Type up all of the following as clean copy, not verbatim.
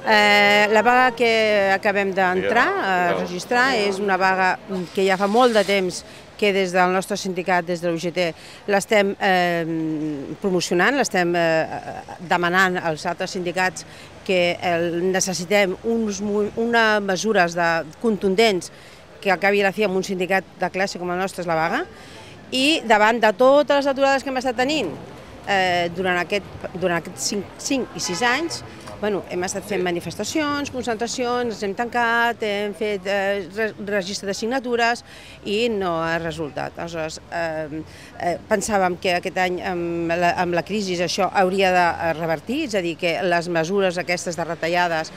La vaga que acabem d'entrar a registrar és una vaga que ja fa molt de temps que des del nostre sindicat, des de la UGT, l'estem promocionant, l'estem demanant als altres sindicats que necessitem unes mesures contundents que acabi a la fi amb un sindicat de classe com el nostre és la vaga, i davant de totes les aturades que hem estat tenint durant aquests 5 i 6 anys, hem estat fent manifestacions, concentracions, ens hem tancat, hem fet registre de signatures i no ha resultat. Aleshores, pensàvem que aquest any amb la crisi això hauria de revertir, és a dir, que les mesures aquestes de retallades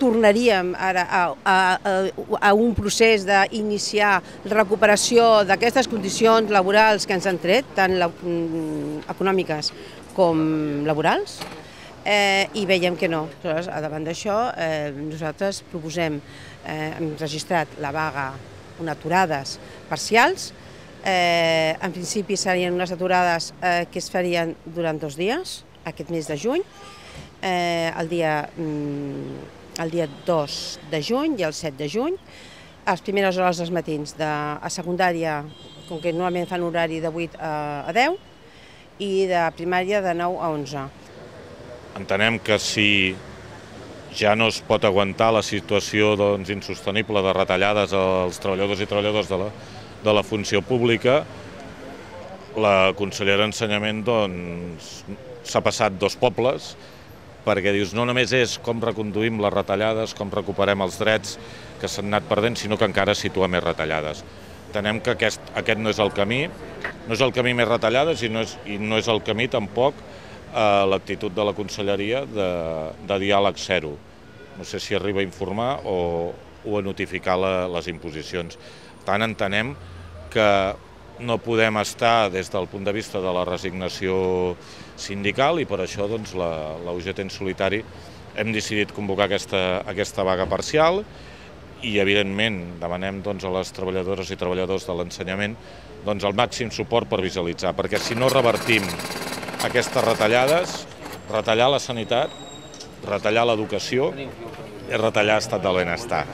tornaríem ara a un procés d'iniciar recuperació d'aquestes condicions laborals que ens han tret, tant econòmiques com laborals, i veiem que no. Aleshores, davant d'això, nosaltres proposem, hem registrat la vaga, unes aturades parcials. En principi serien unes aturades que es farien durant 2 dies, aquest mes de juny, el dia 2 de juny i el 7 de juny. A les primeres hores dels matins a secundària, com que normalment fan horari de 8 a 10, i de primària de 9 a 11. Entenem que si ja no es pot aguantar la situació insostenible de retallades als treballadors i treballadores de la funció pública, la consellera d'Ensenyament s'ha passat 2 pobles, perquè dius no només és com reconduïm les retallades, com recuperem els drets que s'han anat perdent, sinó que encara situa més retallades. Entenem que aquest no és el camí, no és el camí més retallades i no és el camí tampoc l'actitud de la conselleria de diàleg zero. No sé si arriba a informar o a notificar les imposicions. Per tant, entenem que no podem estar des del punt de vista de la resignació sindical i per això la UGT en solitari hem decidit convocar aquesta vaga parcial i, evidentment, demanem a les treballadores i treballadors de l'ensenyament el màxim suport per visualitzar, perquè si no revertim aquestes retallades, retallar la sanitat, retallar l'educació i retallar l'estat del benestar.